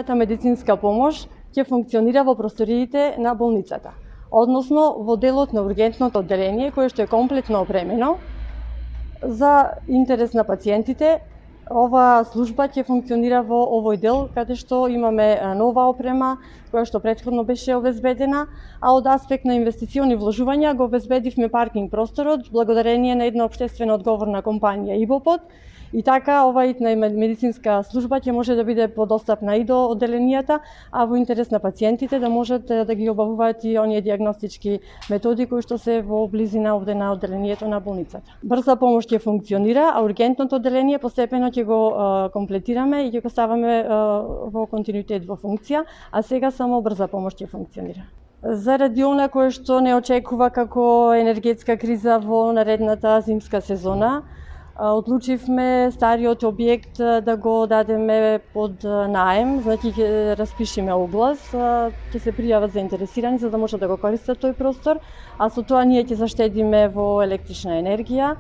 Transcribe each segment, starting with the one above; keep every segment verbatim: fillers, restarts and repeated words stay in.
итната медицинска помош ќе функционира во просториите на болницата, односно во делот на ургентното одделение кое што е комплетно опремено. За интерес на пациентите, ова служба ќе функционира во овој дел каде што имаме нова опрема која што претходно беше обезбедена, а од аспект на инвестициони вложувања го обезбедивме паркинг просторот благодарение на една општествено одговорна компанија ИБОПОД. И така, ова итна медицинска служба ќе може да биде подостапна и до одделенијата, а во интерес на пациентите да можат да ги обавуваат и оние диагностички методи кои што се во близина овде на одделението на болницата. Брза помош ќе функционира, а ургентното одделение постепено ќе го а, комплетираме и ќе го ставаме а, во континуитет во функција, а сега само брза помош ќе функционира. Заради она кое што не очекува како енергетска криза во наредната зимска сезона, одлучивме стариот објект да го дадеме под наем, значи ќе распишеме оглас, ќе се пријават заинтересирани за да можат да го користат тој простор, а со тоа ние ќе заштедиме во електрична енергија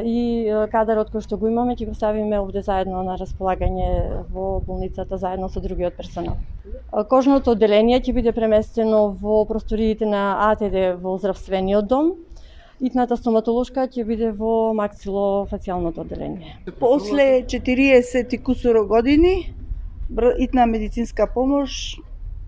и кадарот кој што го имаме ќе го ставиме овде заедно на располагање во болницата заедно со другиот персонал. Кожното одделение ќе биде преместено во просториите на А Т Д во здравствениот дом. Итната стоматолошка ќе биде во максилофацијалното одделение. После четириесет и кусуро години, итна медицинска помош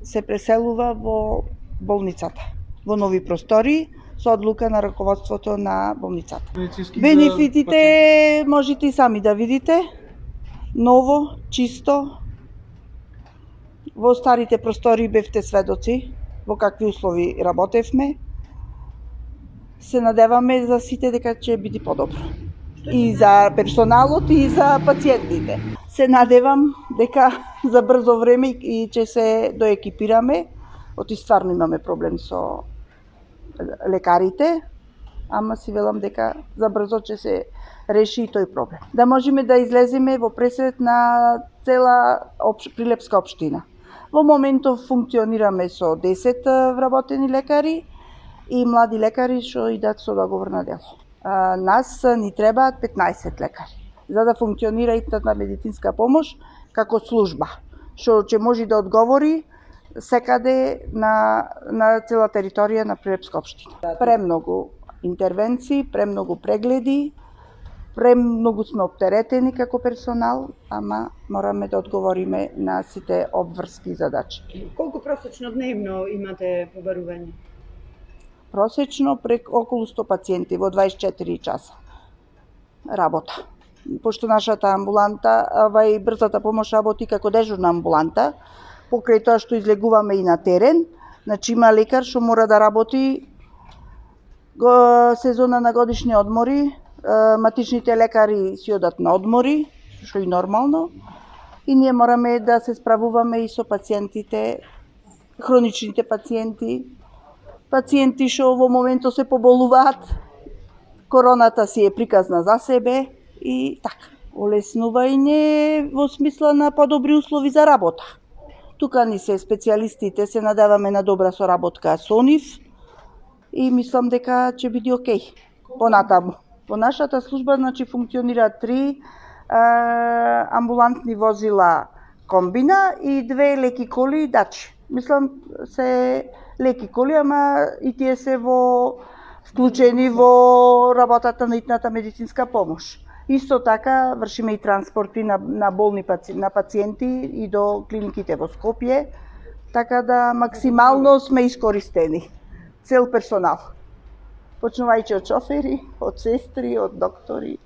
се преселува во болницата, во нови простори, со одлука на раководството на болницата. Бенефитите можете и сами да видите. Ново, чисто. Во старите простори бевте сведоци во какви услови работевме. Се надеваме за сите дека ќе биде подобро. И за персоналот и за пациентите. Се надевам дека за брзо време и ќе се доекипираме. Оти стварно имаме проблем со лекарите, ама си велам дека за брзо ќе се реши и тој проблем. Да можеме да излеземе во пресед на цела опш... Прилепска општина. Во моментов функционираме со десет вработени лекари и млади лекари што идат со договорно дело. А, нас ни требаат петнаесет лекари за да функционира итната медицинска помош како служба, што ќе може да одговори секаде на, на цела територија на Прилепска општина. Премногу интервенции, премногу прегледи, премногу сме оптеретени како персонал, ама мораме да одговориме на сите обврски задачи. Колку просечно дневно имате побарување? Просечно прек околу сто пациенти во дваесет и четири часа работа. Пошто нашата амбуланта, ова и брзата помош работи како дежурна амбуланта, покрај тоа што излегуваме и на терен, значи има лекар што мора да работи го, сезона на годишни одмори, матичните лекари си одат на одмори, што и нормално, и ние мораме да се справуваме и со пациентите, хроничните пациенти, пациенти што во моментот се поболуваат, короната си е приказна за себе и така. Олеснување во смисла на подобри услови за работа. Тука ни се специјалистите, се надеваме на добра соработка со нив и мислам дека ќе биде окей понатаму. Во нашата служба значи функционира три а, амбулантни возила комбина и две леки коли и дачи. Мислам се леки коли, ама и тие се во вклучени во работата на итната медицинска помош. Исто така вршиме и транспорти на, на болни паци, на пациенти и до клиниките во Скопје, така да максимално сме искористени. Цел персонал. Почнувајќи од шофери, од сестри, од доктори.